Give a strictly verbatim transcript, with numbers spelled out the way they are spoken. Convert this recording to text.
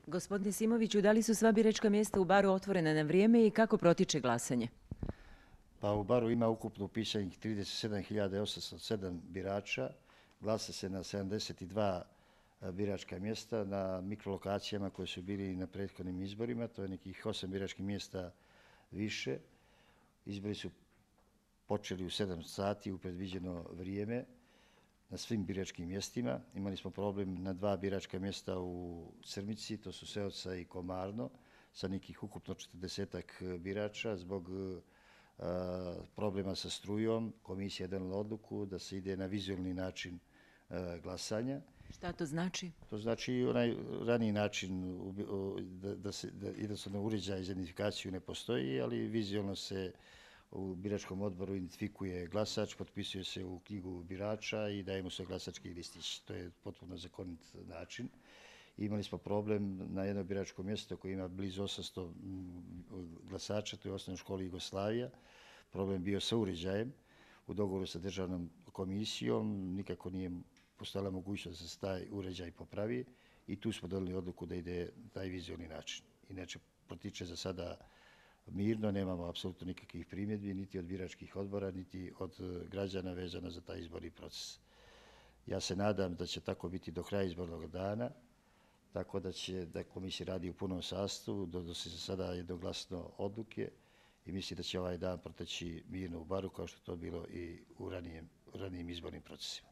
Gospodine Simoviću, da li su sva biračka mjesta u Baru otvorena na vrijeme i kako protiče glasanje? Pa u Baru ima ukupno upisanih trideset sedam hiljada osamsto sedam birača, glasa se na sedamdeset dva biračka mjesta na mikrolokacijama koje su bili na prethodnim izborima, to je nekih osam biračkih mjesta više. Izbori su počeli u sedam sati u predviđeno vrijeme na svim biračkim mjestima. Imali smo problem na dva biračka mjesta u Crmici, to su Seoca i Komarno, sa nekih ukupno četrdesetak birača. Zbog problema sa strujom komisija je donijela odluku da se ide na vizualni način glasanja. Šta to znači? To znači onaj raniji način da, da se da jednostavno uređaj za identifikaciju ne postoji, ali vizualno se u biračkom odboru identifikuje glasač, potpisuje se u knjigu birača i daje mu se glasački listić. To je potpuno zakonit način. Imali smo problem na jedno biračko mjesto koje ima blizu osamsto glasača, to je osnovna škola Jugoslavija. Problem bio sa uređajem u dogovoru sa državnom komisijom, nikako nije postojala mogućnost da se taj uređaj popravi i tu smo donijeli odluku da ide taj vizualni način. Inače, protiče za sada mirno, nemamo apsolutno nikakvih primjedbi, niti od biračkih odbora, niti od građana vezano za taj izborni proces. Ja se nadam da će tako biti do kraja izbornog dana, tako da će da komisija radi u punom sastavu, donosi se sada jednoglasno odluke i mislim da će ovaj dan proteći mirno u Baru kao što je to bilo i u ranijim, ranijim izbornim procesima.